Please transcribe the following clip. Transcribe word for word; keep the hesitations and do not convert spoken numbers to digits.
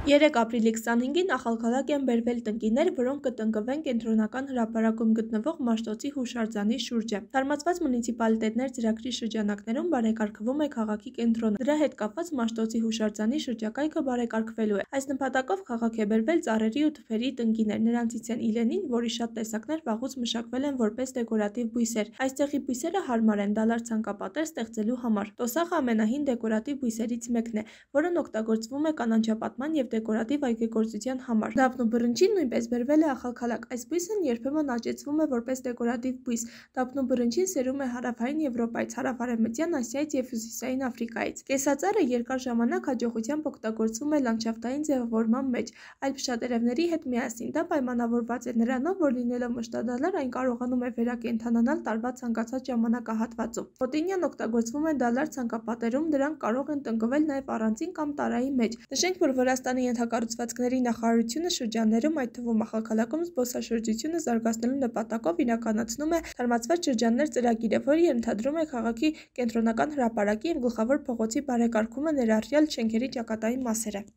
երեք ապրիլի քսանհինգին Ախալքալակ են բերվել տնկիներ, որոնք կտնկվեն Կենտրոնական հրապարակում գտնվող Մաշտոցի հուշարձանի շուրջը։ Թարմացված մունիցիպալիտետներ ծրագրի շրջանակներում բարեկարգվում է քաղաքի կենտրոնը։ Դրա հետ կապված Մաշտոցի հուշարձանի շրջակայքը բարեկարգվելու է։ Այս նպատակով քաղաք է բերվել ծառերի ու թփերի տնկիներ։ Նրանցից են իլենին, որի շատ տեսակներ վաղուց մշակվել են որպես դեկորատիվ բույսեր։ Այստեղի բույսերը հարմար են դալար ցանկապատեր ստեղծելու համար։ Տոսախը ամենահին դեկորատիվ բույսերից մեկն է, որն օգտագործվում է կանաչապատման և դեկորատիվ այգեգործության համար։ Դափն ու բռնչին նույնպես բերվել է Ախալքալակ։ Այս բույսն երբեմն աճեցվում է որպես դեկորատիվ բույս։ Դափն ու բռնչին սերում է հարավային Եվրոպայից, հարավարևմտյան Ասիայից և հյուսիսային Աֆրիկայից։ Կեսածառը երկար ժամանակ հաջողությամբ օգտագործվում է լանդշաֆտային ձևավորման մեջ, այլ փշատերևների հետ միասին։ Դա պայմանավորված է նրանով, որ լինելով մշտադալար, այն կարողանում է վերակենդանանալ տարվա ցանկացած ժամանակահատվածում։ Խոտինյան օգտագործվում է դալար ցանկապատերում, դրանք կարող են տնկվել նաև առանձին կամ տարայի մեջ։ Նշենք, որ Վրաստանի ենթակառուցվածքների նախարարությունը շրջաններում, այդ թվում Ախալքալաքում զբոսաշրջությունը զարգացնելու նպատակով իրականացնում է թարմացված շրջաններ ծրագիրը, որը ենթադրում է քաղաքի կենտրոնական հրապարակի և գլխավոր փողոցի բարեկարգումը, ներառյալ շենքերի ճակատային մասերը։